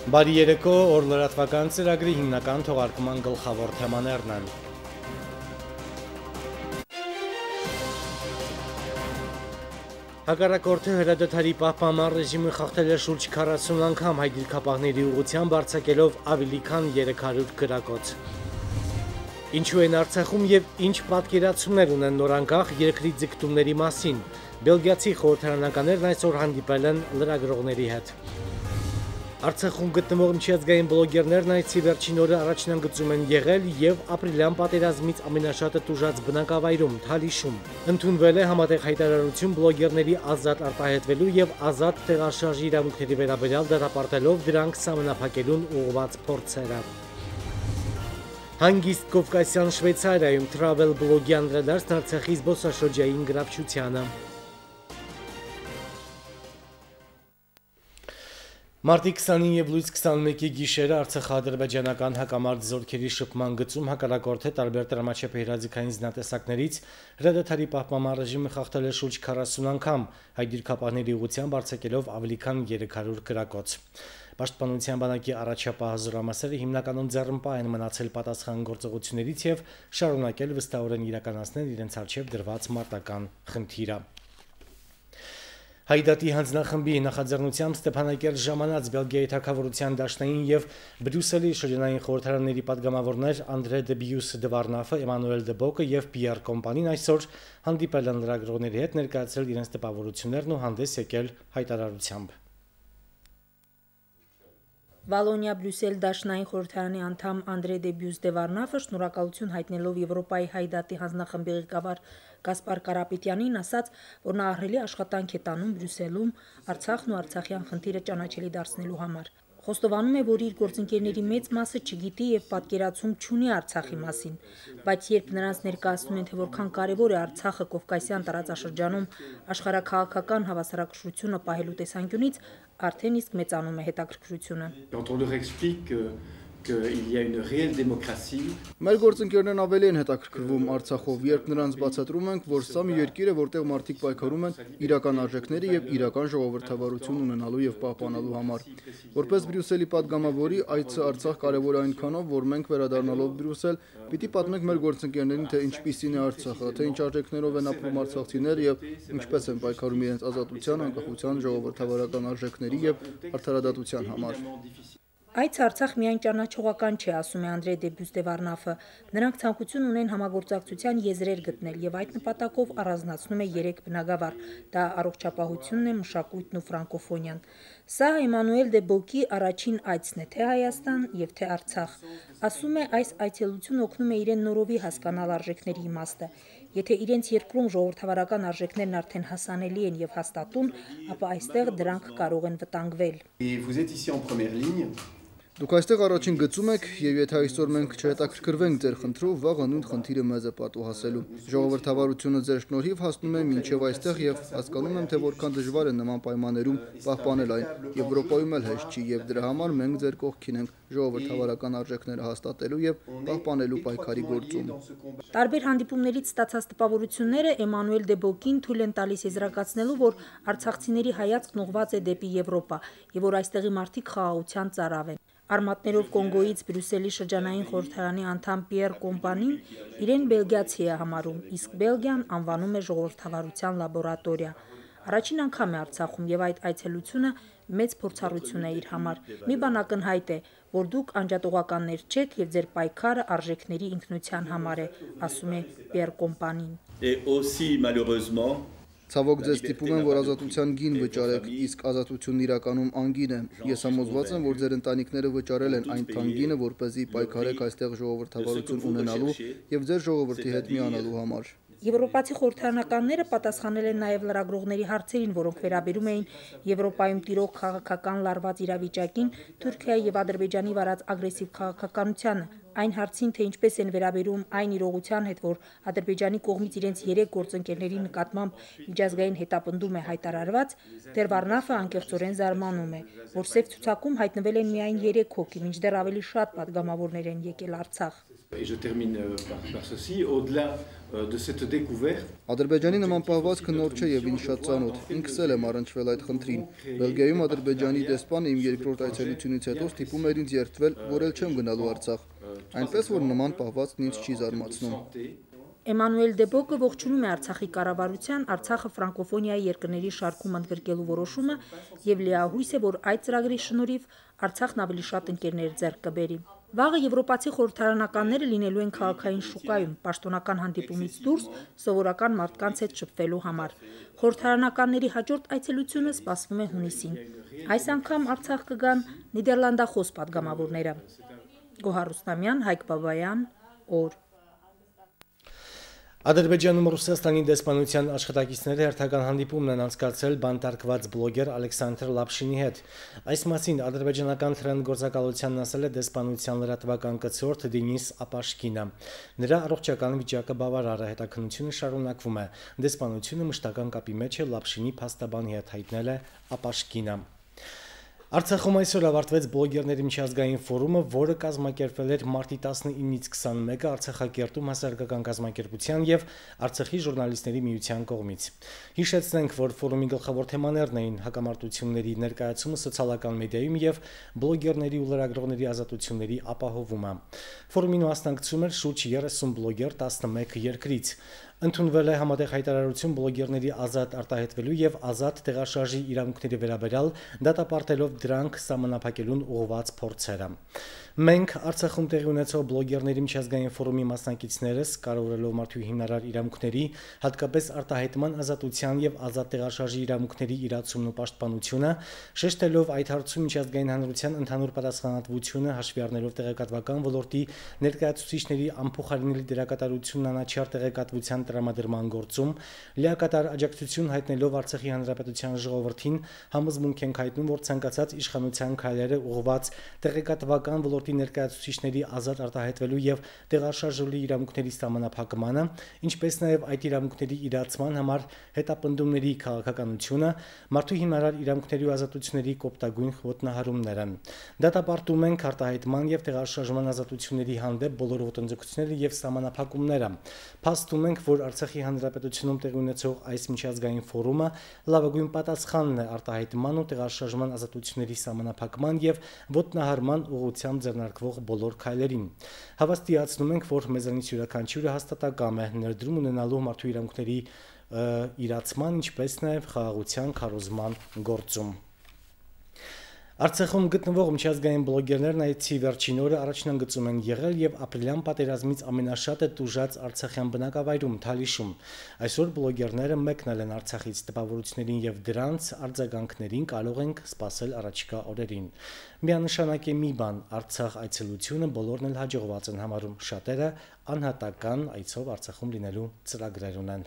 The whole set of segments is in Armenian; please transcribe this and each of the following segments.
Բարի երեկո, օր լրատվական ծրագրի հիմնական թողարկման գլխավոր թեմաներն են։ Հակառակորդը հրադադարի պահպանման ռեժիմը խախտել է շուրջ 40 անգամ հայ դիրքապահների ուղղությամբ արձակելով ավելի քան 300 գրակոց։ Ինչու են Արցախում եւ ինչ պատկերացումներ ունեն նորանկախ երկրի ձգտումների մասին։ Բելգիացի խորհրդարանականներն այսօր հանդիպել են լրագրողների հետ։ Արցախում գտնվող միջազգային բլոգերներն այցի վերջին օրը առաջնագծում են եղել եւ ապրիլյան պատերազմից ամենաշատը տուժած բնակավայրում Թալիշում ընդունվել է համատեղ հայտարարություն բլոգերների ազատ արտահայտվելու եւ ազատ տեղաշարժի իրավունքների վերաբերյալ դատապարտելով դրանք սահմանափակելուն ուղղված փորձերը։ Հանգիստ Կովկասյան Շվեյցարիայում travel բլոգի անդրադարձն Արցախի զբոսաշրջային գրավչությանը։ Մարտի 29 եւ լույս 21-ի գիշերը արցախա-ադրբեջանական հակամարտ զորքերի շփման գծում հակառակորդը տարբեր տրամաչափահրաձգային զինատեսակներից հրադադարի պահպանման ռեժիմը խախտել է շուրջ 40 անգամ հայ դիրքապահների ուղղությամբ արձակելով ավելի քան 300 գրակոց։ Պաշտպանության բանակի առաջապահ զորամասերը հիմնականում ձեռնպահ են մնացել պատասխան գործողություններից եւ շարունակել վստահորեն իրականացնել իրենց առջեւ դրված մարտական խնդիրը։ Հայդատի հանձնախմբի նախաձեռնությամբ Ստեփանակերտ ժամանած Բելգիայի թագավորության դաշնային եւ Բրյուսելի շրջանային խորհրդարանների падգամավորներ Անդրե դե Բյուս դե Վարնաֆը, Էմանուել դե Բոկը եւ Պիեր Կոմպանին այսօր հանդիպել են լրագրողների հետ, ներկայացրել իրենց տպավորություններն ու հանդես եկել հայտարարությամբ։ Վալոնիա Բրյուսել դաշնային խորհրդարանի անդամ Անդրե դե Բյուս դե Վարնաֆը շնորհակալություն հայտնելով Եվրոպայի հայդատի հանձնախմբի ղեկավար Գասպար Կարապետյանին ասաց, որ նա ահռելի աշխատանք է տանում Բրյուսելում Արցախն ու արցախյան խնդիրը ճանաչելի դարձնելու համար։ Խոստովանում է, որ իր գործընկերների մեծ մասը չգիտի եւ պատկերացում չունի Արցախի մասին, բայց երբ նրանց ներկայացնում են, թե որքան կարեւոր է Արցախը Կովկասյան տարածաշրջանում աշխարհաքաղաքական հավասարակշռությունը պահելու տեսանկյունից, արդեն իսկ մեծանում է հետաքրքրությունը։ Մեր գործընկերներն ավելի են հետաքրքրվում Արցախով, երբ նրանց բացատրում ենք, որ սա մի երկիր է, որտեղ մարդիկ պայքարում են իրական արժեքների եւ իրական ժողովրդավարություն ունենալու եւ պահպանելու համար։ Որպես Բրյուսելի падգամավորի այցը Արցախ կարեւոր է այնքանով, որ մենք վերադառնալով Բրյուսել պիտի պատմենք մեր գործընկերներին, թե ինչպիսին է Արցախը, թե ինչ արժեքներով են ապրում արցախցիները եւ ինչպես են պայքարում իրենց ազատության, անկախության, ժողովրդավարական արժեքների եւ արդարադատության համար։ Այս Արցախ միայն ճանաչողական չէ, ասում է Անդրե դե Բյուս դե Վարնաֆը։ Նրանք ցանկություն ունեն համագործակցության եզրեր գտնել եւ այդ նպատակով առանձնացնում է 3 բնագավառ։ Դա առողջապահությունն է, մշակույթն ու ֆրանկոֆոնիան։ Սա Էմանուել դե Բոկի առաջին այցն է թե Հայաստան եւ թե Արցախ։ Ասում է, այս այցելությունը օգնում է իրեն նորովի հասկանալ արժեքների իմաստը։ Եթե իրենց երկրում ժողովրդավարական արժեքներն արդեն հասանելի են եւ հաստատուն, ապա այստեղ դրանք կարող են վտանգվել։ Դուք այստեղ առաջին գծում եք, եւ եթե այսօր մենք չհետաքրքրվենք ձեր խնդրով, վաղը նույն խնդիրը մեզ է պատուհասելու։ Ժողովրդավարությունը ձեր շնորհիվ հասնում է մինչև այստեղ եւ հասկանում եմ, թե որքան դժվար է նման պայմաններում պահպանել այն։ Եվրոպայում էլ հեշտ չի եւ դրա համար մենք ձեր կողքին ենք ժողովրդավարական արժեքները հաստատելու եւ պահպանելու պայքարի գործում։ Տարբեր հանդիպումներից ստացած տպավորությունները Էմանուել դե Բոկին թույլ են տալիս եզրակացնելու, որ արցախցիների հայացքն ուղղված է դեպի Եվրոպա եւ որ այստեղի մարդիկ խաղաղության ծարավ են։ Արմատներով Կոնգոյից Բրյուսելի շրջանային խորհրդարանի անդամ Պիեր Կոմպանին իրեն բելգիացի է համարում, իսկ Բելգիան անվանում է ժողովրդավարության լաբորատորիա։ Առաջին անգամ է Արցախում եւ այդ այցելությունը մեծ փորձառություն է իր համար։ Մի բան ակնհայտ է, որ դուք անջատողականներ չեք եւ ձեր պայքարը արժեքների ինքնության համար է, ասում է Պիեր Կոմպանին։ Ցավոք ձեզ ստիպում եմ, որ ազատության գին վճարեք, իսկ ազատությունն իրականում անգին է։ Ես համոզված եմ, որ ձեր ընտանիքները վճարել են այն թանկինը, որպեսզի պայքարեք այստեղ ժողովրդավարություն ունենալու եւ ձեր ժողովրդի հետ միանալու համար։ Եվրոպացի խորհրդարանականները պատասխանել են նաև լրագրողների հարցերին, որոնք վերաբերում էին Եվրոպայում տիրող քաղաքական լարված իրավիճակին, Թուրքիայի եւ Ադրբեջանի վարած ագրեսիվ քաղաքականությանը, այն հարցին, թե ինչպես են վերաբերում այն իրողության հետ, որ Ադրբեջանի կողմից իրենց 3 գործընկերների նկատմամբ միջազգային հետապնդում է հայտարարված, դեր Վարնաֆը անկեղծորեն զարմանում է, որ սև ցուցակում հայտնվել են միայն 3 հոգի, մինչդեռ ավելի շատ падգամավորներ են եկել Արցախ։ Et je termine par ceci, au-delà de cette découverte. Ադրբեջանի նման պահվածքը նոր չէ եւ ինձ շատ ծանոթ։ Ինքս էլ եմ առնչվել այդ խնդրին։ Բելգիայում Ադրբեջանի դեսպանը իմ երկրորդ այցելությունից հետո ստիպում էր ինձ երդվել, որ էլ չեմ գնալու Արցախ։ Այնպես որ նման պահվածքն ինձ չի զարմացնում։ Էմանուել Դեբոկը ողջունում է Արցախի կառավարության Արցախը ֆրանկոֆոնիայի երկրների շարքում ընդգրկելու որոշումը եւ լիահույս է, որ այդ ծրագրի շնորհիվ Արցախն ավելի շատ ընկերներ ձեռք կբերի։ Վաղը եվրոպացի խորհրդարանականները լինելու են քաղաքային շուկայում, պաշտոնական հանդիպումից դուրս սովորական մարդկանց հետ շփվելու համար։ Խորհրդարանականների հաջորդ այցելությունը սպասվում է հունիսին։ Այս անգամ Արցախ կգան նիդերլանդախոս պատգամավորները։ Գոհար Ռուստամյան, Հայկ Բաբայան, օր։ Ադրբեջանում Ռուսաստանի դեսպանության աշխատակիցները հերթական հանդիպումն են անցկացրել բանտարկված բլոգեր Ալեքսանդր Լապշինի հետ։ Այս մասին ադրբեջանական թրենդգործակալությանն ասել է դեսպանության լրատվական կցորդ Դենիս Ապաշկինը։ Նրա առողջական վիճակը բավարար է, հետաքննությունը շարունակվում է։ Դեսպանությունը մշտական կապի մեջ է Լապշինի փաստաբանի հետ, հայտնել է Ապաշկինը։ Արցախում այսօր ավարտվեց բլոգերների միջազգային ֆորումը, որը կազմակերպվել էր մարտի 19-ից 21-ը Արցախակերտում հասարակական կազմակերպության եւ Արցախի ժուրնալիստների միության կողմից։ Հիշեցնենք, որ ֆորումի գլխավոր թեմաներն էին հակամարտությունների ներկայացումը սոցիալական մեդիայում եւ բլոգերների ու լրագրողների ազատությունների ապահովումը։ Ֆորումին մասնակցում էր շուրջ 30 բլոգեր 11 երկրից։ Ընդունվել է համատեղ հայտարարություն բլոգերների ազատ արտահայտվելու եւ ազատ տեղաշարժի իրավունքների վերաբերյալ դատապարտելով դրանք սահմանափակելուն ուղղված փորձերը։ Մենք Արցախում տեղի ունեցող բլոգերների միջազգային ֆորումի մասնակիցներս կարևորելով մարդու հիմնարար իրավունքների, հատկապես արտահայտման ազատության եւ ազատ տեղաշարժի իրավունքների իրացումն ու պաշտպանությունը, շեշտելով այդ հարցում միջազգային հանրության ընդհանուր պատասխանատվությունը, հաշվի առնելով տեղեկատվական ոլորտի ներկայացուցիչների անփոխարինելի դերակատարությունն անաչառ տեղեկատվության տրամադրման գործում, լիակատար աջակցություն հայտնելով Արցախի հանրապետության ժողովրդին, համոզմունք ենք հայտնում, որ ցանկացած իշխանության քայլերը ուղղված տեղեկատվական ոլորտի ներկայացուցիչների ազատ արտահայտվելու եւ տեղաշարժելու իրավունքների սահմանափակմանը, ինչպես նաեւ այդ իրավունքների իրացման համար հետապնդումների քաղաքականությունը, մարդու հիմնարար իրավունքների ու ազատությունների կոպտագույն ոտնահարումները։ Դատապարտում ենք արտահայտման եւ տեղաշարժման ազատությունների հանդեպ բոլոր ոտնձգությունները եւ սահմանափակումները։ Փաստում ենք, որ Արցախի հանրապետությունում տեղի ունեցող այս միջազգային ֆորումը լավագույն պատասխանն է արտահայտման ու տեղաշարժման ազատությունների սահմանափակման եւ ոտնահարման ուղղությամբ ձեռնարկվող բոլոր քայլերին։ Հավաստիացնում ենք, որ մեզանից յուրաքանչյուրը հաստատակամ է ներդրում ունենալու մարդու իրավունքների իրացման, ինչպես նաեւ խաղաղության քարոզման գործում։ Արցախում գտնվող միջազգային բլոգերներն այցի վերջին օրը առաջնագծում են եղել եւ ապրիլյան պատերազմից ամենաշատը տուժած արցախյան բնակավայրում Թալիշում։ Այսօր բլոգերները մեկնել են Արցախից տպավորություններին եւ դրանց արձագանքներին կարող ենք սպասել առաջիկա օրերին։ Միանշանակ է մի բան, Արցախ այցելությունը բոլորն էլ հաջողված են համարում, շատերը անհատական այցով Արցախում լինելու ծրագրեր ունեն։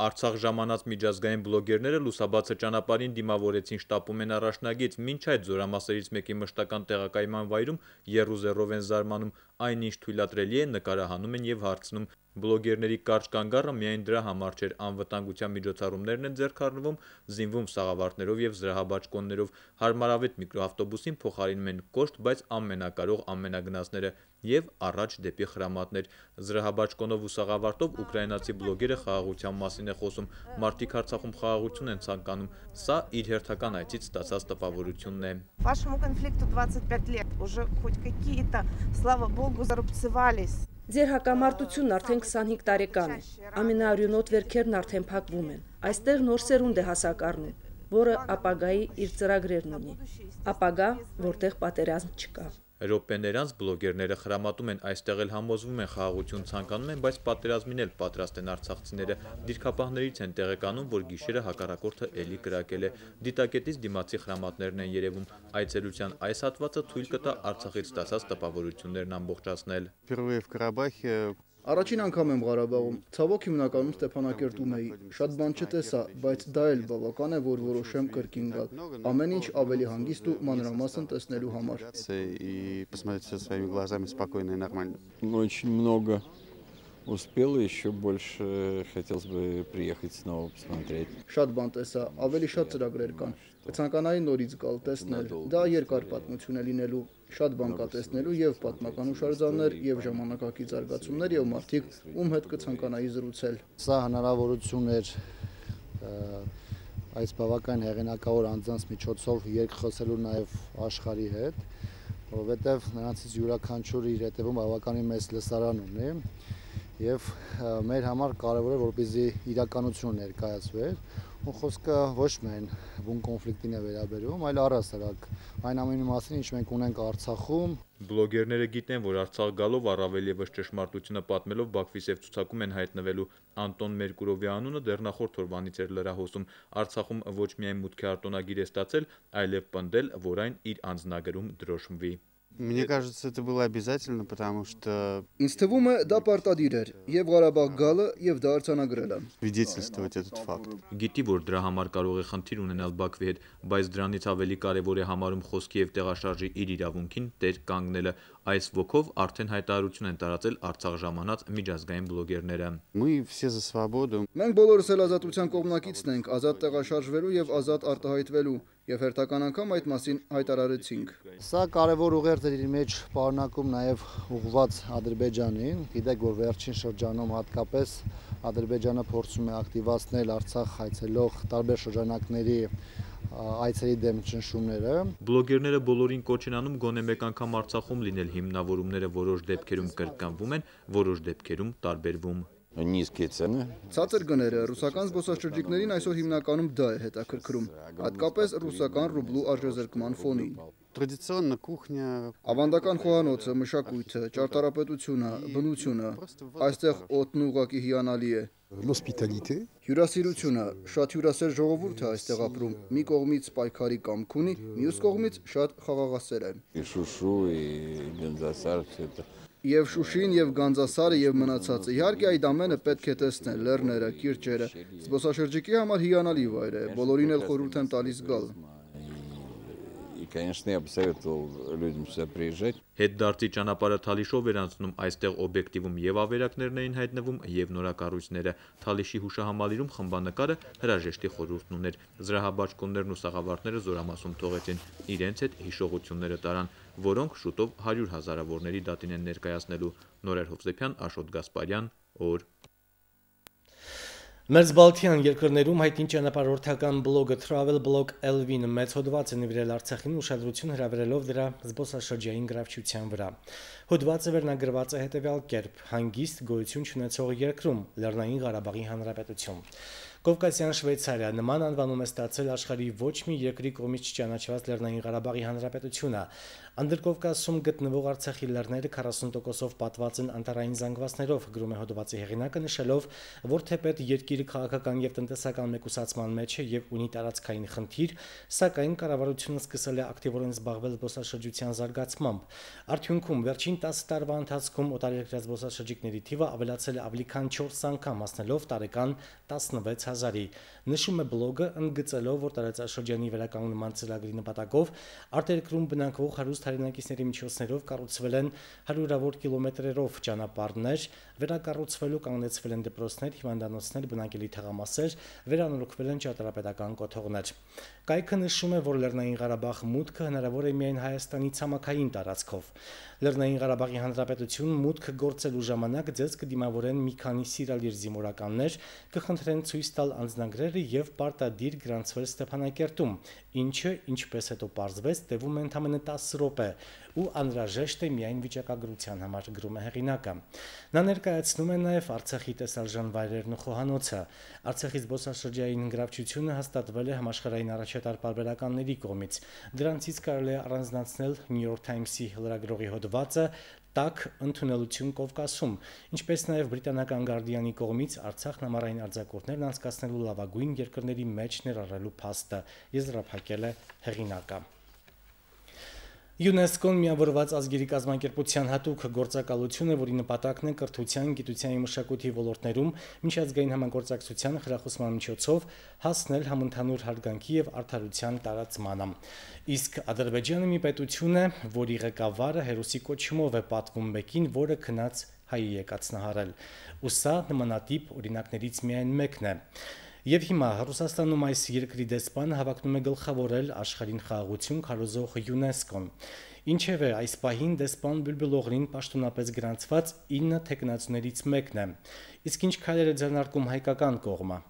Արցախ ժամանած միջազգային բլոգերները լուսաբացը ճանապարհին դիմավորեցին շտապում են առաջնագիծ, մինչ այդ զորամասերից մեկի մշտական տեղակայման վայրում եռուզեռով են զարմանում, այնինչ թույլատրելի է նկարահանում են եւ հարցնում։ Բլոգերների կարճ կանգառը միայն դրա համար չէր, անվտանգության միջոցառումներն են ձեռք առնվում, զինվում սաղավարտներով եւ զրահաբաճկոններով, հարմարավետ միկրոավտոբուսին փոխարինում են կոշտ, բայց ամենակարող ամենագնացները եւ առաջ դեպի խրամատներ։ Զրահաբաճկոնով ու սաղավարտով ուկրաինացի բլոգերը խաղաղության մասին է խոսում, մարդիկ Արցախում խաղաղություն են ցանկանում, սա իր հերթական այցից ստացած տպավորությունն է։ Вашему конфликту 25 лет, уже хоть какие-то, слава богу, зарубцевались. Ձեր հակամարտությունն արդեն 25 տարեկան է, ամենաարյունոտ վերքերն արդեն փակվում են, այստեղ նոր սերունդ է հասակ առնում, որը ապագայի իր ծրագրերն ունի, ապագա, որտեղ պատերազմ չկա։ Ռոպեներ անց բլոգերները խրամատում են, այստեղ էլ համոզվում են խաղաղություն ցանկանում են, բայց պատերազմին էլ պատրաստ են արցախցիները։ Դիրքապահներից են տեղեկանում, որ գիշերը հակառակորդը էլի կրակել է։ Դիտակետից դիմացի խրամատներն են երևում։ Այցելության այս հատվածը թույլ կտա Արցախից ստացած տպավորություններն ամբողջացնել։ Առաջին անգամ եմ Ղարաբաղում, ցավոք հիմնականում Ստեփանակերտում էի, շատ բան չտեսա, բայց դա էլ բավական է, որ որոշեմ կրկին գալ, ամեն ինչ ավելի հանգիստ ու մանրամասն տեսնելու համար։ Очень много успел, еще больше хотелось бы приехать снова посмотреть. Շատ բան տեսա, ավելի շատ ծրագրեր կան։ Կցանկանայի նորից գալ տեսնել։ Դա երկար պատմություն է լինելու, շատ բան կա տեսնելու եւ պատմական հուշարձաններ եւ ժամանակակից զարգացումներ եւ մարդիկ, ում հետ կցանկանայի զրուցել։ Սա հնարավորություն էր այս բավական հեղինակավոր անձանց միջոցով երկխոսելու նաեւ աշխարհի հետ, որովհետեւ նրանցից յուրաքանչյուրը իր հետևում բավականին մեծ լսարան ունի եւ մեր համար կարեւոր է որպեսզի իրականություն ներկայացվեր ու խոսքը ոչ միայն բուն կոնֆլիկտին է վերաբերում, այլ առհասարակ այն ամենի մասին, ինչ մենք ունենք Արցախում։ Բլոգերները գիտեն, որ Արցախ գալով առավել եւս ճշմարտությունը պատմելով Բաքվի սև ցուցակում են հայտնվելու Անտոն Մերկուրովի անունը դեռ նախորդ օրվանից էր լրահոսում։ Արցախում ոչ միայն մուտքի արտոնագիր է ստացել, այլև պնդել, որ այն իր անձնագրում դրոշմվի։ Мне кажется, это было обязательно, потому что Ինձ թվում է դա պարտադիր էր եւ Ղարաբաղ գալը եւ դա արձանագրելը։ свидетельствовать этот факт. Գիտի, որ դրա համար կարող է խնդիր ունենալ Բաքվի հետ, բայց դրանից ավելի կարևոր է համարում խոսքի եւ տեղաշարժի իր իրավունքին տեր կանգնելը։ Այս ոգով արդեն հայտարարություն են տարածել Արցախ ժամանած միջազգային բլոգերները։ Мы все за свободу. Մենք բոլորս էլ ազատության կողմնակիցն ենք, ազատ տեղաշարժվելու եւ ազատ արտահայտվելու եւ հերթական անգամ այդ մասին հայտարարեցինք։ Սա կարևոր ուղերձ էր իր մեջ պարունակում նաեւ ուղղված Ադրբեջանին։ Գիտեք, որ վերջին շրջանում հատկապես Ադրբեջանը փորձում է ակտիվացնել Արցախ այցելող տարբեր շրջանակների այցերի դեմ ճնշումները։ Բլոգերները բոլորին կոչ են անում գոնե մեկ անգամ Արցախում լինել, հիմնավորումները որոշ դեպքերում կրկնվում են, որոշ դեպքերում տարբերվում։ Низкие цены. Ցածր գները ռուսական զբոսաշրջիկներին այսօր հիմնականում դա է հետաքրքրում, հատկապես ռուսական ռուբլու արժեզրկման ֆոնին։ Традиционно кухня. Ավանդական խոհանոցը, մշակույթը, ճարտարապետությունը, բնությունը, այստեղ օդն ուղղակի հիանալի է։ L'hospitalité. Հյուրասիրությունը, շատ հյուրասեր ժողովուրդ է այստեղ ապրում։ Մի կողմից պայքարի կամք ունի, մյուս կողմից շատ խաղաղասեր է։ И Шушу, и Гандзасар, все это. Եվ Շուշին, եւ Գանձասարը, եւ մնացածը։ Իհարկե այդ ամենը պետք է տեսնել, լեռները, կիրճերը։ Զբոսաշրջիկի համար հիանալի վայր է, բոլորին էլ խորհուրդ եմ տալիս գալ։ И, конечно, я бы советовал людям сюда приезжать. Հետդարձի ճանապարհը Թալիշով էր անցնում, այստեղ օբյեկտիվում եւ ավերակներն էին հայտնվում եւ նորակառույցները։ Թալիշի հուշահամալիրում խմբանկարը հրաժեշտի խորհուրդն ուներ։ Զրահաբաճկոններն ու սաղավարտները զորամասում թողեցին, իրենց հետ հիշողությունները տարան, որոնք շուտով 100 հազարավորների դատին են ներկայացնելու։ Նորեր Հովսեփյան, Աշոտ Գասպարյան, օր։ Մերձբալթյան երկրներում հայտնի ճանապարհորդական բլոգը Travel Blog LV-ն մեծ հոդված է նվիրել Արցախին ուշադրություն հրավիրելով դրա զբոսաշրջային գրավչության վրա։ Հոդվածը վերնագրված է հետևյալ կերպ. հանգիստ գոյություն չունեցող երկրում Լեռնային Ղարաբաղի Հանրապետություն։ Կովկասյան Շվեյցարիա նման անվանում է ստացել աշխարհի ոչ մի երկրի կողմից չճանաչված Լեռնային Ղարաբաղի Հանրապետությունը։ Անդրկովկասում գտնվող Արցախի լեռները 40%-ով պատված են անտառային զանգվածներով, գրում է հոդվածի հեղինակը, նշելով, որ թեպետ երկիրը քաղաքական եւ տնտեսական մեկուսացման մեջ է եւ ունի տարածքային խնդիր, սակայն կառավարությունը սկսել է ակտիվորեն զբաղվել զբոսաշրջության զարգացմամբ։ Արդյունքում վերջին 10 տարվա ընթացքում օտարերկրյա զբոսաշրջիկների թիվը ավելացել է ավելի քան 4 անգամ, հասնելով տարեկան 16000-ի։ Նշում է բլոգը, ընդգծելով, որ տարածաշրջանի վերականգնման ծրագրի նպատակով արտերկրում բնակվող հարուստ հայրենակիցների միջոցներով կառուցվել են հարյուրավոր կիլոմետրերով ճանապարհներ, վերակառուցվելու կանգնեցվել են դպրոցներ, հիվանդանոցներ, բնակելի թաղամասեր, վերանորոգվել են ճարտարապետական կոթողներ։ Կայքը նշում է, որ Լեռնային Ղարաբաղ մուտքը հնարավոր է միայն Հայաստանի ցամաքային տարածքով։ Լեռնային Ղարաբաղի Հանրապետություն մուտք գործելու ժամանակ ձեզ կդիմավորեն մի քանի սիրալիր զինվորականներ, կխնդրեն ցույց տալ անձնագրերը եւ պարտադիր գրանցվել Ստեփանակերտում, ինչը, ինչպես հետո պարզվեց, տևում է ընդամենը 10 րոպե ու անհրաժեշտ է միայն վիճակագրության համար, գրում է հեղինակը։ Նա ներկայացնում է նաև Արցախի տեսարժան վայրերն ու խոհանոցը։ Արցախի զբոսաշրջային գրավչությունը հաստատվել է համաշխարհային առաջատար պարբերականների կողմից։ Դրանցից կարելի է առանձնացնել New York Times-ի լրագրողի հոդվածը «Տաք ընդունելություն Կովկասում», ինչպես նաև բրիտանական Guardian-ի կողմից Արցախն ամառային արձակուրդներն անցկացնելու լավագույն երկրների մեջ ներառելու փաստը, եզրափակել է հեղինակը։ ՅՈՒՆԵՍԿՕ-ն միավորված ազգերի կազմակերպության հատուկ գործակալություն է, որի նպատակն է կրթության, գիտության և մշակույթի ոլորտներում միջազգային համագործակցության խրախուսման միջոցով հասնել համընդհանուր հարգանքի և արդարության տարածմանը։ Իսկ Ադրբեջանը մի պետություն է, որի ղեկավարը հերոսի կոչումով է պատվում մեկին, որը քնած հայի է կացնահարել։ Ու սա նմանատիպ օրինակներից միայն մեկն է։ Եվ հիմա Ռուսաստանում այս երկրի դեսպանը հավակնում է գլխավորել աշխարհին խաղաղություն քարոզող ՅՈՒՆԵՍԿՕ-ն։ Ինչևէ, այս պահին դեսպան Բյուլբյուլօղլին պաշտոնապես գրանցված 9 թեկնածուներից մեկն է։ Իսկ ինչ քայլեր է ձեռնարկում հայկական կողմը։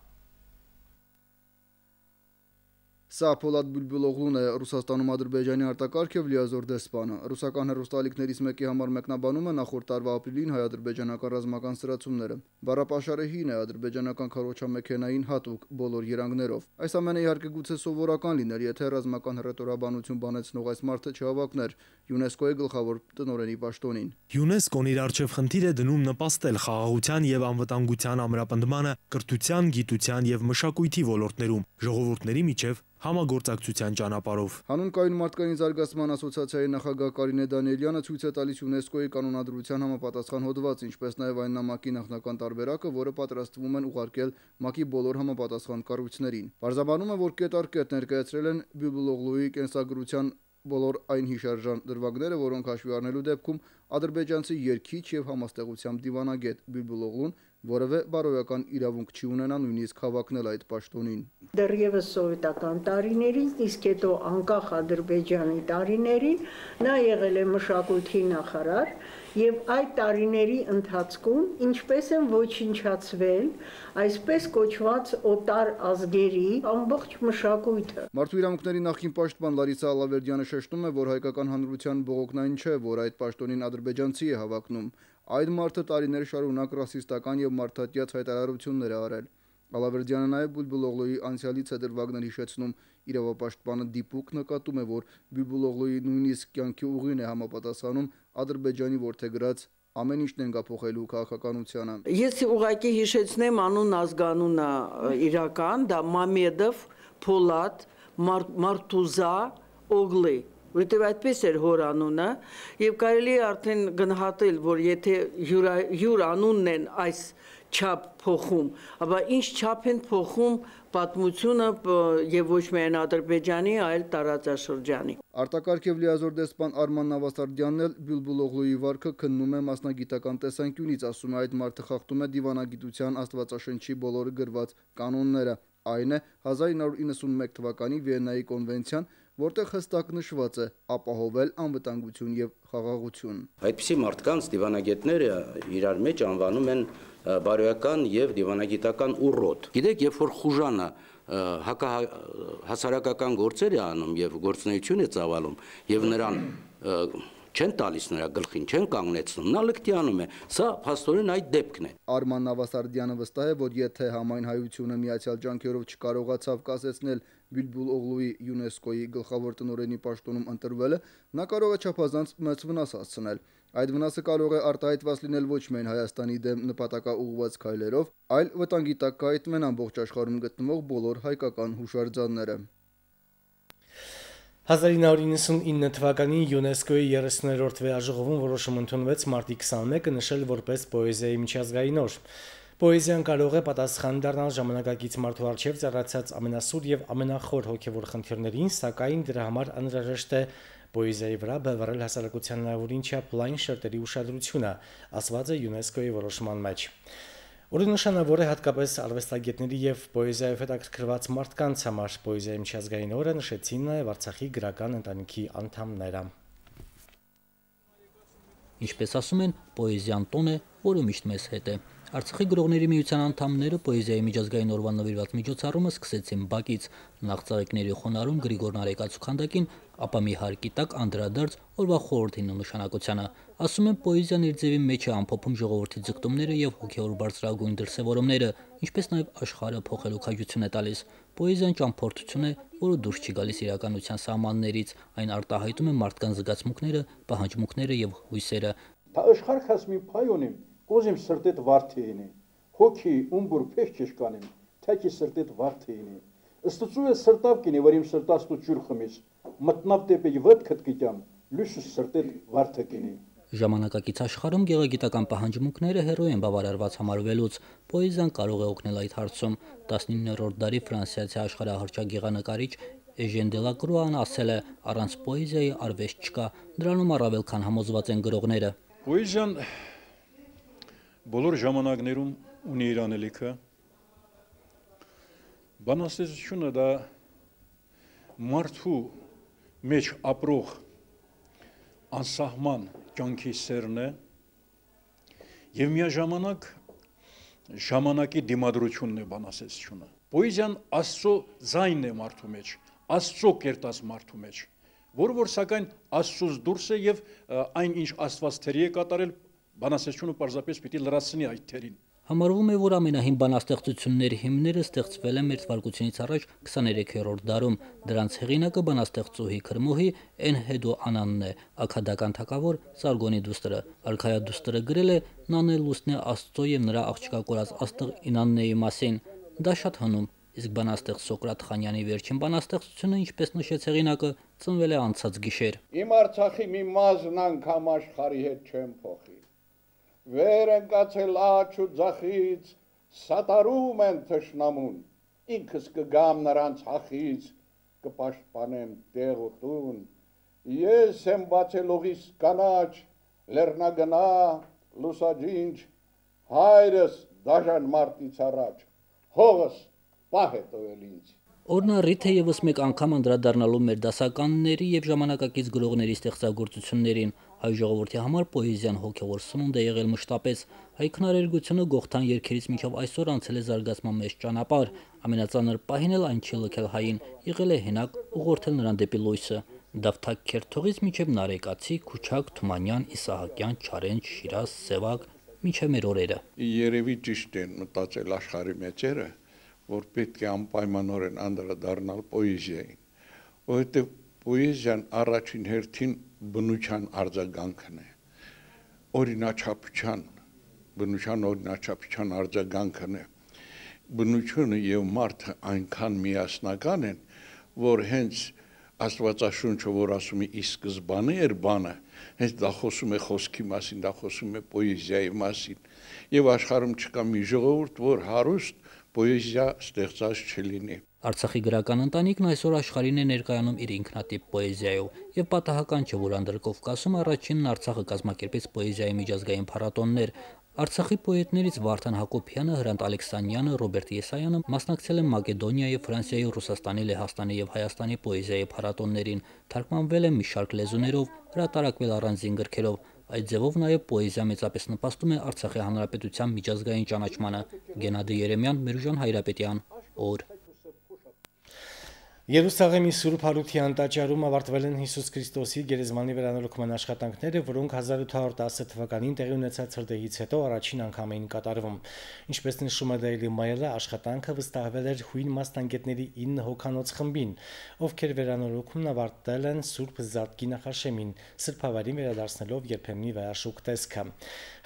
Սա Պոլադ Բյուլբյուլօղլուն է, Ռուսաստանում Ադրբեջանի արտակարգ եւ լիազոր դեսպանը։ Ռուսական հեռուստաալիքներից մեկի համար մեկնաբանում է նախորդ տարվա ապրիլին հայ-ադրբեջանական ռազմական սրացումները։ Բառապաշարը հին է, ադրբեջանական քարոզչամեքենային հատուկ բոլոր երանգներով։ Այս ամենը իհարկե գուցե սովորական լիներ, եթե ռազմական հռետորաբանություն բանեցնող այս մարդը չհավակներ ՅՈՒՆԵՍԿՕ-ի գլխավոր տնօրենի պաշտոնին։ ՅՈՒՆԵՍԿՕ-ն իր առջև խնդիր է դնում նպաստել խաղաղության եւ անվտանգության ամրապնդմանը կրթության, գիտության եւ մշակույթի ոլորտներում ժողովուրդների միջև համագործակցության ճանապարհով։ Հանուն կայուն մարդկային զարգացման ասոցիացիայի նախագահ Կարինե Դանիելյանը ցույց է տալիս ՅՈՒՆԵՍԿՕ-ի կանոնադրության համապատասխան հոդված, ինչպես նաև այն նամակի նախնական տարբերակը, որը պատրաստվում են ուղարկել ՄԱԿ-ի բոլոր համապատասխան կառույցներին։ Պարզաբանում է, որ կետ առ կետ ներկայացրել են Բյուլբյուլօղլուի կենսագրության բոլոր այն հիշարժան դրվագները, որոնք հաշվի առնելու դեպքում ադրբեջանցի երգիչ եւ համաստեղությամբ դիվանագետ Բյուլբյուլօղլուն որևէ բարոյական իրավունք չի ունենա նույնիսկ հավակնել այդ պաշտոնին։ Դեռևս սովետական տարիներից, իսկ հետո անկախ Ադրբեջանի տարիներին նա եղել է մշակույթի նախարար եւ այդ տարիների ընթացքում ինչպես են ոչնչացվել այսպես կոչված օտար ազգերի ամբողջ մշակույթը։ Մարդու իրավունքների նախկին պաշտպան Լարիսա Ալավերդյանը շեշտում է, որ հայկական հանրության բողոքն այն չէ, որ այդ պաշտոնին ադրբեջանցի է հավակնում։ Այդ մարդը տարիներ շարունակ ռասիստական եւ մարդատյաց հայտարարություններ է արել։ Ալավերդյանը նաև Բյուլբյուլօղլուի անցյալից է դրվագներ հիշեցնում։ Իրավապաշտպանը դիպուկ նկատում է, որ Բյուլբյուլօղլուի նույնիսկ կյանքի ուղին է համապատասխանում Ադրբեջանի որդեգրած ամեն ինչն ենգափոխելու քաղաքականությանը։ Ես ուղղակի հիշեցնեմ անուն ազգանունը իրական, դա Մամեդով Պոլադ Մարտուզա Օղլի, որտեղ այդպես էր հոր անունը, եւ կարելի է արդեն գնահատել, որ եթե յուր անունն են այս չափ փոխում, ապա ինչ չափ են փոխում պատմությունը եւ ոչ միայն Ադրբեջանի, այլ տարածաշրջանի։ Արտակարգ եւ լիազոր դեսպան Արման Նավասարդյանն էլ Բյուլբյուլօղլուի վարքը քննում է մասնագիտական տեսանկյունից, ասում է այդ մարդը խախտում է դիվանագիտության աստվածաշնչի բոլոր գրված կանոնները։ Այն է 1991 թվականի Վիեննայի կոնվենցիան, որտեղ հստակ նշված է ապահովել անվտանգություն եւ խաղաղություն։ Այդպիսի մարդկանց դիվանագետները իրար մեջ անվանում են բարոյական եւ դիվանագիտական ուռոտ։ Գիտեք, երբ որ խուժանը հասարակական գործեր է անում եւ գործունեություն է ծավալում եւ նրան չեն տալիս նրա գլխին, չեն կանգնեցնում, նա լկտիանում է, սա փաստորեն այդ դեպքն է։ Արման Նավասարդյանը վստահ է, որ եթե համայն հայությունը միացյալ ջանքերով չկարողացավ կասեցնել Բյուլբյուլօղլուի ՅՈՒՆԵՍԿՕ-ի գլխավոր տնօրենի պաշտոնում ընտրվելը, նա կարող է չափազանց մեծ վնաս հասցնել։ Այդ վնասը կարող է արտահայտված լինել ոչ միայն Հայաստանի դեմ նպատակաուղղված քայլերով, այլ վտանգի տակ կհայտնվեն ամբողջ աշխարհում գտնվող բոլոր հայկական հուշարձանները։ 1999 թվականին ՅՈՒՆԵՍԿՕ-ի 30-րդ վեաժողովում որոշում ընդունվեց մարտի 21-ը նշել որպես պոեզիայի միջազգային օր։ Պոեզիան կարող է պատասխան դառնալ ժամանակակից մարդու առջև ծառացած ամենասուր եւ ամենախոր հոգեվոր խնդիրներին, սակայն դրա համար անհրաժեշտ է պոեզիայի վրա բևեռել հասարակության հնարավորին չափ լայն շերտերի ուշադրությունը, ասված է ՅՈՒՆԵՍԿՕ-ի որոշման մեջ։ Որը նշանավոր է հատկապես արվեստագետների եւ պոեզիայով հետաքրքրված մարդկանց համար։ Պոեզիայի միջազգային օրը նշեցին նաեւ Արցախի գրական ընտանիքի անդամները։ Ինչպես ասում են, պոեզիան տոն է, որը միշտ մեզ հետ է։ Արցախի գրողների միության անդամները պոեզիայի միջազգային օրվան նվիրված միջոցառումը սկսեցին Բաքից, նախ ծաղիկների խոնարհում Գրիգոր Նարեկացու քանդակին, ապա մի հարկի տակ անդրադարձ օրվա խորհրդին ու նշանակությանը։ Ասում են, պոեզիան իր ձևի մեջ է ամփոփում ժողովրդի ձգտումները եւ հոգեոր բարձրագույն դրսեւորումները, ինչպես նաեւ աշխարհը փոխելու քաջություն է տալիս։ Պոեզիան ճամփորդություն է, որը դուրս չի գալիս իրականության սահմաններից, այն արտահայտում է մարդկանց զգացմունքները, պահանջմունքները եւ հույսերը։ Աշխարհ հասմի փայոնիմ Կոզիմ սրտետ վարդեինի, հոգի ումբուր փեշ չշկանիմ, թակի սրտետ վարդեինի։ Ստծու է սրտավ կինի, որ իմ սրտաստու ջուր խմիս, մտնավ դեպի վտ քտկիտյամ, լույսս սրտետ վարդակինի։ Ժամանակակից աշխարհում գեղագիտական պահանջմունքները հեռու են բավարարված համարվելուց, պոեզիան կարող է օգնել այդ հարցում։ 19-րդ դարի ֆրանսիացի աշխարհահռչակ գեղանկարիչ Էժեն Դելակրուան ասել է. առանց պոեզիայի արվեստ չկա, դրանում առավել քան համոզված են գրողները։ Պոեզիան բոլոր ժամանակներում ունի իր անելիքը։ Բանաստեղծությունը դա մարդու մեջ ապրող անսահման կյանքի սերն է եւ միաժամանակ ժամանակի դիմադրությունն է բանաստեղծությունը։ Պոեզիան Աստծո ձայնն է մարդու մեջ, Աստծո կերտած մարդու մեջ, որ սակայն Աստծոց դուրս է եւ այն ինչ Աստված թերի է կատարել, բանաստեղծությունը պարզապես պիտի լրացնի այդ թերին։ Համարվում է, որ ամենահին բանաստեղծությունների հիմները ստեղծվել են Մերձվարկությունից առաջ 23-րդ դարում։ Դրանց հեղինակը բանաստեղծուհի Քրմոհի Էնհեդո Անանն է, աքադական թագավոր Սարգոնի դուստրը։ Արքայադուստրը գրել է Նանե լուսնե Աստծո եւ նրա աղջկա կորած աստղ Ինաննեի մասին։ Դա շատ հնում, իսկ բանաստեղծ Սոկրատ Խանյանի վերջին բանաստեղծությունը, ինչպես նշեց հեղինակը, ծնվել է անցած գիշեր։ Իմ Արցախի մի մազն անգամ աշխարհի հետ չեմ փոխի։ Վեր ընկացել աչ ու ձախից, սատարում են թշնամուն, ինքս կգամ նրանց հախից, կպաշտպանեմ տեղ ու տուն, ես եմ բացել օղիս կանաչ, լեռնագնա, լուսաջինջ, հայրս դաժան մարտից առաջ, հողս պահ է տվել ինձ։ Օրն առիթ է եւս մեկ անգամ անդրադառնալու մեր դասականների եւ ժամանակակից գրողների ստեղծագործություններին։ Հայ ժողովրդի համար պոեզիան հոգեվոր սնունդ է եղել մշտապես։ Հայ քնարերգությունը Գողթան երգերից մինչև այսօր անցել է զարգացման մեծ ճանապարհ։ Ամենածանր պահին էլ այն չի լքել հային, եղել է հենակ, ուղղորդել նրան դեպի լույսը։ Դավթակ Քերթողից մինչև Նարեկացի, Քուչակ, Թումանյան, Իսահակյան, Չարենջ, Շիրազ, Սևակ, մինչև մեր օրերը։ Երևի ճիշտ են մտածել աշխարհի մեծերը, որ պետք է անպայմանորեն անդրադառնալ պոեզիային, որովհետև պոեզիան առաջին հերթին բնության արձագանքն է, բնության օրինաչափության արձագանքն է։ Բնությունը եւ մարդը այնքան միասնական են, որ հենց Աստվածաշունչը, որ ասում է ի սկզբանե էր բանը, հենց դա խոսում է խոսքի մասին, դա խոսում է պոեզիայի մասին, եւ աշխարհում չկա մի ժողովուրդ, որ հարուստ պոեզիա ստեղծած չլինի։ Արցախի գրական ընտանիքն այսօր աշխարհին է ներկայանում իր ինքնատիպ պոեզիայով, եւ պատահական չէ, որ Անդրկովկասում առաջինն Արցախը կազմակերպեց պոեզիայի միջազգային փառատոններ։ Արցախի պոետներից Վարդան Հակոբյանը, Հրանտ Ալեքսանյանը, Ռոբերտ Եսայանը մասնակցել են Մակեդոնիայի, Ֆրանսիայի, Ռուսաստանի, Լեհաստանի եւ Հայաստանի պոեզիայի փառատոններին, թարգմանվել են մի շարք լեզուներով, հրատարակվել առանձին գրքերով։ Այդ ձևով նաև պոեզիա մեծապես նպաստում է Արցախի հանրապետության միջազգային ճանաչմանը։ Գենադի Երեմյան, Մերուժան Հայրապետյան, օր։ Երուսաղեմի Սուրբ Հարության տաճարում ավարտվել են Հիսուս Քրիստոսի գերեզմանի վերանորոգման աշխատանքները, որոնք 1810 թվականին տեղի ունեցած հրդեհից հետո առաջին անգամ էին կատարվում։ Ինչպես նշում է Daily Mail-ը, աշխատանքը վստահվել էր հույն մասնագետների 9 հոգանոց խմբին, ովքեր վերանորոգումն ավարտել են Սուրբ Զատկի նախաշեմին, սրբավայրին վերադարձնելով երբեմնի վայաշուկ տեսքը։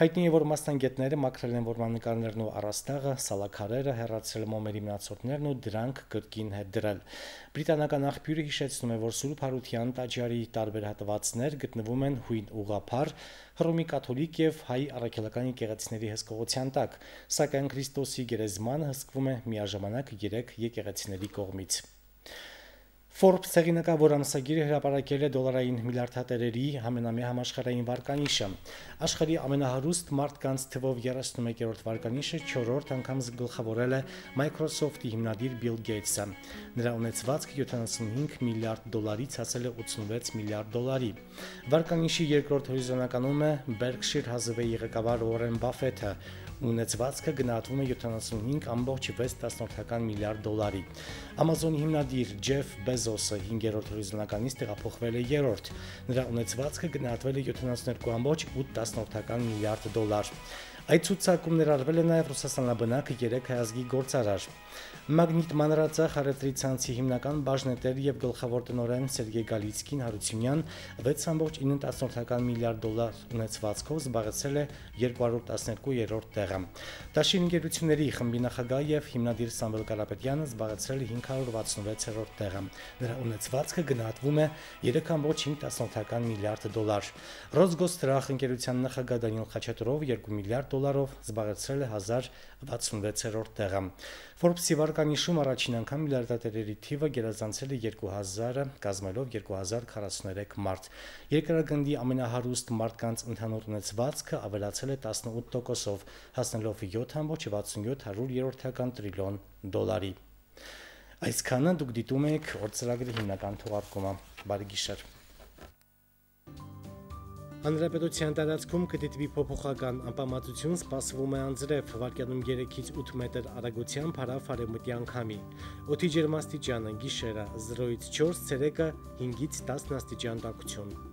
Հայտնի է, որ մասնագետները մաքրել են որմնանկարներն ու առաստաղը, սալաքարերը, հեռացրել մոմերի մնացորդներն ու դրանք կրկին հետ դրել։ Բրիտանական աղբյուրը հիշեցնում է, որ Սուրբ Հարության տաճարի տարբեր հատվածներ գտնվում են հույն ուղղափառ, հռոմի կաթոլիկ եւ հայ առաքելական եկեղեցիների հսկողության տակ, սակայն Քրիստոսի գերեզմանը հսկվում է միաժամանակ 3 եկեղեցիների կողմից։ Forbes հեղինակավոր ամսագիրը հրապարակել է դոլարային միլիարդատերերի ամենամյա համաշխարհային վարկանիշը։ Աշխարհի ամենահարուստ մարդկանց թվով 31-րդ վարկանիշը 4-րդ անգամ գլխավորել է Microsoft-ի հիմնադիր Bill Gates-ը։ Նրա ունեցվածքը 75 միլիարդ դոլարից հասել է 86 միլիարդ դոլարի։ Վարկանիշի երկրորդ հորիզոնականում է Berkshire Hathaway-ի ղեկավար Warren Buffett-ը։ Ունեցվածքը գնահատվում է 75.6 միլիարդ դոլարի։ Amazon-ի հիմնադիր Jeff Bezos-ը 5-րդ հորիզոնականից տեղափոխվել է 3-րդ։ Նրա ունեցվածքը գնահատվել է 72.8 միլիարդ դոլար։ Այդ ցուցակում ներառվել է նաև ռուսաստանաբնակ 3 հայազգի գործարար։ Մագնիտ մանրածախ առևտրի ցանցի հիմնական բաժնետեր եւ գլխավոր տնօրեն Սերգեյ Գալիցկին Հարությունյան 6.9 միլիարդ դոլար ունեցվածքով զբաղեցրել է 212-րդ տեղը։ Դաշին ընկերությունների խմբի նախագահ եւ հիմնադիր Սամվել Կարապետյանը զբաղեցրել է 566-րդ տեղը։ Նրա ունեցվածքը գնահատվում է 3.5 միլիարդ դոլար։ Ռոսգոստրախ ընկերության նախագահ Դանիել Խաչատուրով 2 միլիարդ դոլարով զբաղեցրել է 1066-րդ տեղը։ Forbes-ի վարկանիշում առաջին անգամ միլիարդատերերի թիվը գերազանցել է 2000-ը, կազմելով 2043 մարդ։ Երկրագնդի ամենահարուստ մարդկանց ընդհանուր ունեցվածքը ավելացել է 18%-ով, հասնելով 7.67 տրիլիոն դոլարի։ Այսքանը դուք դիտում եք օր ծրագրի հիմնական թողարկումը։ Բարի գիշեր։ Հանրապետության տարածքում կդիտվի փոփոխական անպամատություն, սպասվում է անձրև, վարկյանում 3-ից 8 մետր արագությամբ հարավ արևմտյան քամի։ Օդի ջերմաստիճանը՝ գիշերը 0-ից 4, ցերեկը 5-ից 10 աստիճան տաքություն։